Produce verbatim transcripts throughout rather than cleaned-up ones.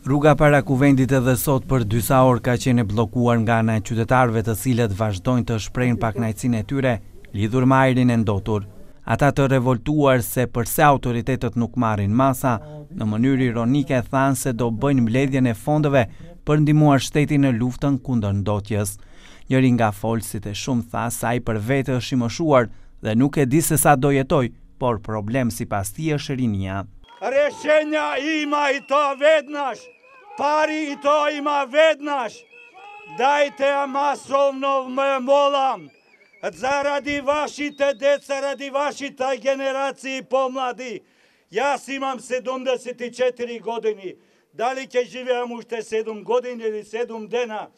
Rruga para kuvendit edhe sot për disa orë ka qenë bllokuar nga ana e qytetarëve, të cilët vazhdojnë të shprehin pakënaqësinë e tyre lidhur me ajrin e ndotur. Ata të revoltuar se përse autoritetet nuk marrin masa, në mënyrë ironike thanë se do bëjnë mbledhjen e fondeve për ndihmuar shtetin në luftën kundër ndotjes. Njëri nga folësit e shumë tha se ai për vete është i moshuar dhe nuk e di se sa do jetoj, por problem sipas tij është rinia. Rješenja ima i to vednaš, pari i to ima vednaš. Dajte masovno me molam, zaradi vašite deca, radi vašita generaciji pomladi. Јас имам седумдесет и четири години, дали ќе живеам уште седум години или седум дена,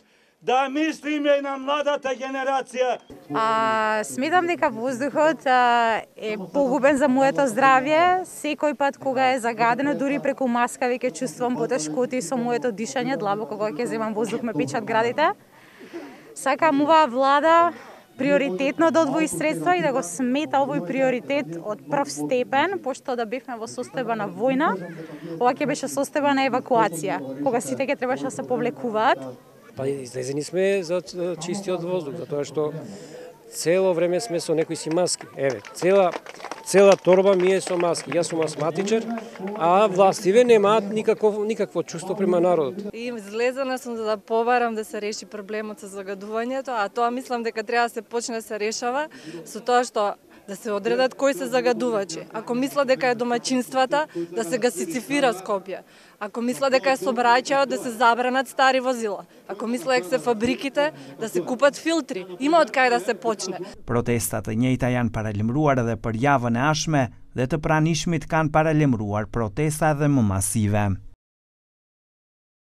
да мислиме на младата генерација. А, сметам дека воздухот а, е погубен за моето здравје. Секој пат кога е загадено, дури преку маска веќе чувствувам потешкоти со моето дишање, длабоко кога ќе земам воздух ме печат градите. Сакам оваа влада приоритетно да одвои средства и да го смета овој приоритет од прв степен, пошто да бевме во состојба на војна, ова ќе беше состојба на евакуација, кога сите ќе требаше да се повлекуваат. Па излезени сме за чистиот воздух, затоа што цело време сме со некои си маски. Еве, цела цела торба ми е со маски. Јас сум астматичар, а властиве немаат никакво никакво чувство према народот. И излезена сум за да побарам да се реши проблемот со загадувањето, а тоа мислам дека треба да се почне да се решава со тоа што да се одредат кои се загадувачи. Ако мисла дека е домаќинствата, да се гасицифира Скопје. Ако мисла дека е сообраќајот, да се забранат стари возила. Ако мисла дека се фабриките, да се купат филтри. Има од кај да се почне. Protestat e njëjta janë paralajmëruar edhe për javën e ardhshme dhe të pranishmit kanë paralajmëruar protesta edhe më masive.